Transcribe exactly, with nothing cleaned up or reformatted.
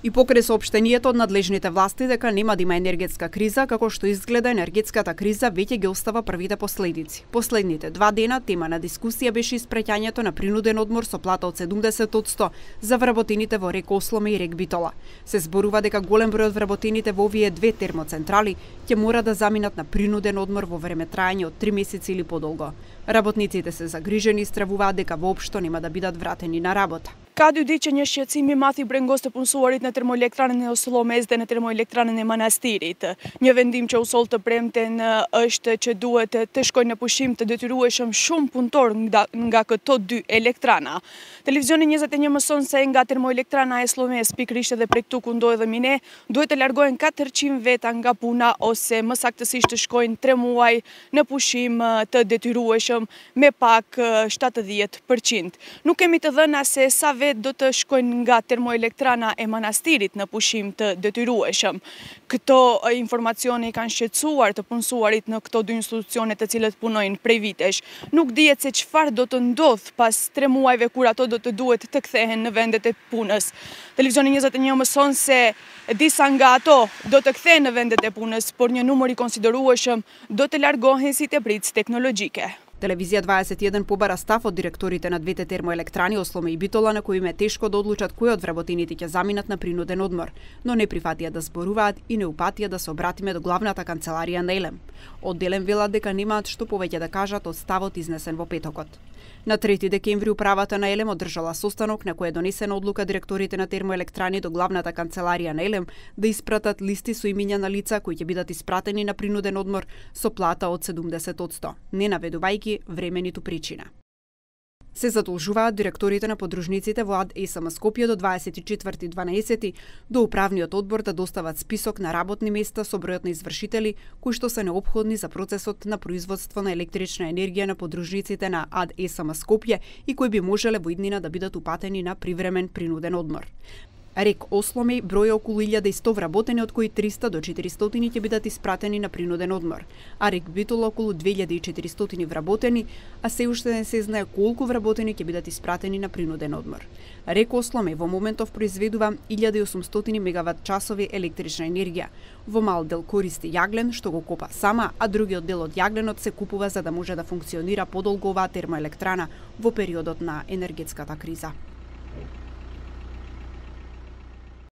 И покрај соопштението од надлежните власти дека нема да има енергетска криза, како што изгледа енергетската криза веќе ги остава првите последици. Последните два дена тема на дискусија беше испраќањето на принуден одмор со плата од седумдесет одсто за вработените во Рек Осломе и Рек Битола. Се зборува дека голем број од вработените во овие две термоцентрали ќе мора да заминат на принуден одмор во време траење од три месеци или подолго. Работниците се загрижени и стравуваат дека воопшто нема да бидат вратени на работа. Ka dy ditë që një shqetësim i madh i brengos të punësuarit në termoelektranën e Oslomez dhe në termoelektranën e Manastirit. Një vendim që u sol të premten është që duhet të shkojnë në pushim të detyrueshëm shumë punëtor nga, nga këto dy elektrana. Televizioni njëzet e një mëson se nga termoelektrana e Oslomez, pikërisht edhe prej këtu ku ndodhemi ne, duhet të largohen katërqind veta nga puna ose më saktësisht të shkojnë tre muaj në pushim të detyrueshëm me pak shtatëdhjetë përqind. Nuk kemi të dhëna se sa do të shkojnë nga termoelektrana e Manastirit në pushim të detyrueshëm. Këto informacione i kanë shqetësuar të punësuarit në këto dy institucione të cilët punojnë prej vitesh. Nuk dihet se çfarë do të ndodh pas tre muajve kur ato do të duhet të kthehen në vendet e punës. Televizioni njëzet e një mëson se disa nga ato do të kthehen në vendet e punës, por një numër i konsiderueshëm do të largohen si tepritës teknologjike. Телевизија дваесет и еден побара став од директорите на двете термоелektrани Осломе и Битола на кои им е тешко да одлучат кои од вработените ќе заминат на принуден одмор, но не прифатија да зборуваат и не упатија да се обратиме до главната канцеларија на Елем. Од Елем велат дека немаат што повеќе да кажат од ставот изнесен во петокот. На трети декември управата на Елем одржала состанок на кој е донесена одлука директорите на термоелekтрани до главната канцеларија на Елем да испратат листи со имиња на лица кои ќе бидат испратени на принуден одмор со плата од седумдесет одсто, не наведувајќи време ниту причина. Се задолжуваат директорите на подружниците во АД ЕСМ Скопје до дваесет и четврти дванаесети до управниот одбор да достават список на работни места со бројот на извршители кои што се неопходни за процесот на производство на електрична енергија на подружниците на АД ЕСМ Скопје и кои би можеле во иднина да бидат упатени на привремен принуден одмор. Рек Осломе броја околу илјада и сто вработени, од кои триста до четиристотини ќе бидат испратени на принуден одмор, а Рек Битола околу две илјади и четиристотини вработени, а се уште не се знае колку вработени ќе бидат испратени на принуден одмор. Рек Осломе во моментов произведува илјада и осумстотини мегават часови електрична енергија. Во мал дел користи јаглен, што го копа сама, а другиот дел од јагленот се купува за да може да функционира подолго оваа термоелekтрана во периодот на енергетската криза.